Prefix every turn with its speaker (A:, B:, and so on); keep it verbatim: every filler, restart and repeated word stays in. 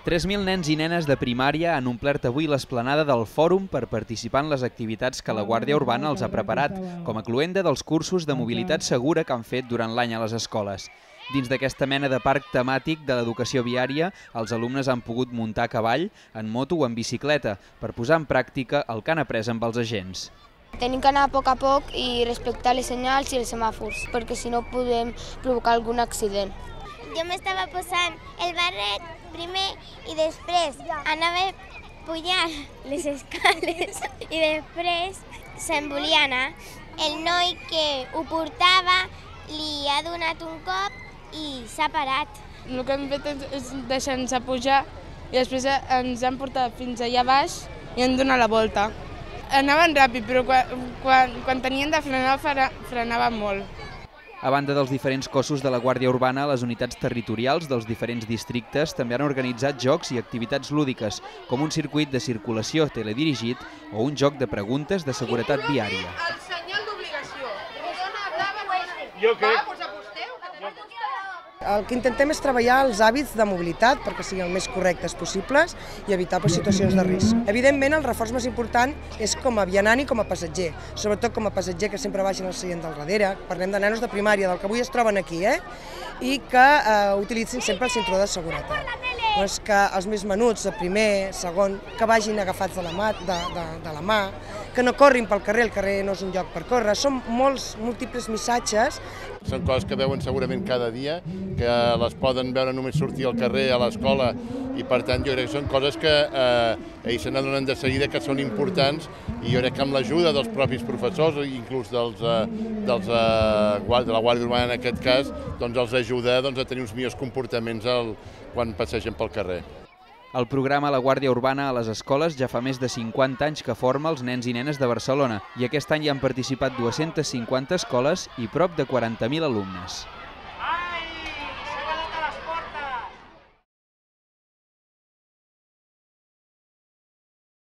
A: tres mil nens i nenes de primària han omplert avui l'esplanada del Fòrum per participar en les activitats que la Guàrdia Urbana els ha preparat, com a cloenda dels cursos de mobilitat segura que han fet durant l'any a les escoles. Dins d'aquesta mena de parc temàtic de l'educació viària, els alumnes han pogut muntar a cavall, en moto o en bicicleta, per posar en pràctica el que han après amb els agents.
B: Tenim que anar a poc a poc i respectar les senyals i els semàfors, perquè si no podem provocar algun accident.
C: Jo m'estava posant el barret primer i després anava pujant les escales i després se'n volia anar. El noi que ho portava li ha donat un cop i s'ha parat.
D: El que hem fet és deixar-nos pujar i després ens han portat fins allà baix i han donat la volta. Anaven ràpid, però quan, quan, quan tenien de frenar, frenaven molt.
A: A banda dels diferents cossos de la Guàrdia Urbana, les unitats territorials dels diferents districtes també han organitzat jocs i activitats lúdiques, com un circuit de circulació teledirigit o un joc de preguntes de seguretat viària.
E: El senyal d'obligació. Rodona, blava, roja.
F: Jo crec...
G: El que intentem és treballar els hàbits de mobilitat perquè siguin el més correctes possibles i evitar situacions de risc. Evidentment, el reforç més important és com a vianant i com a passatger, sobretot com a passatger que sempre vagin al seient del darrere. Parlem de nanos de primària, del que avui es troben aquí, eh? i que eh, utilitzin sempre el cinturó de seguretat. Doncs que els més menuts, de primer, segon, que vagin agafats de la mà, de, de, de la mà, que no corrin pel carrer, el carrer no és un lloc per córrer. Són molts múltiples missatges.
F: Són coses que veuen segurament cada dia, que les poden veure només sortir al carrer, a l'escola, i per tant jo crec que són coses que eh, ells se n'adonen de seguida que són importants i jo crec que amb l'ajuda dels propis professors, inclús dels, eh, dels, eh, de la Guàrdia Urbana en aquest cas, doncs els ajuda doncs, a tenir uns millors comportaments el, quan passegen pel carrer.
A: El programa La Guàrdia Urbana a les escoles ja fa més de cinquanta anys que forma els nens i nenes de Barcelona i aquest any hi han participat dues-centes cinquanta escoles i prop de quaranta mil alumnes.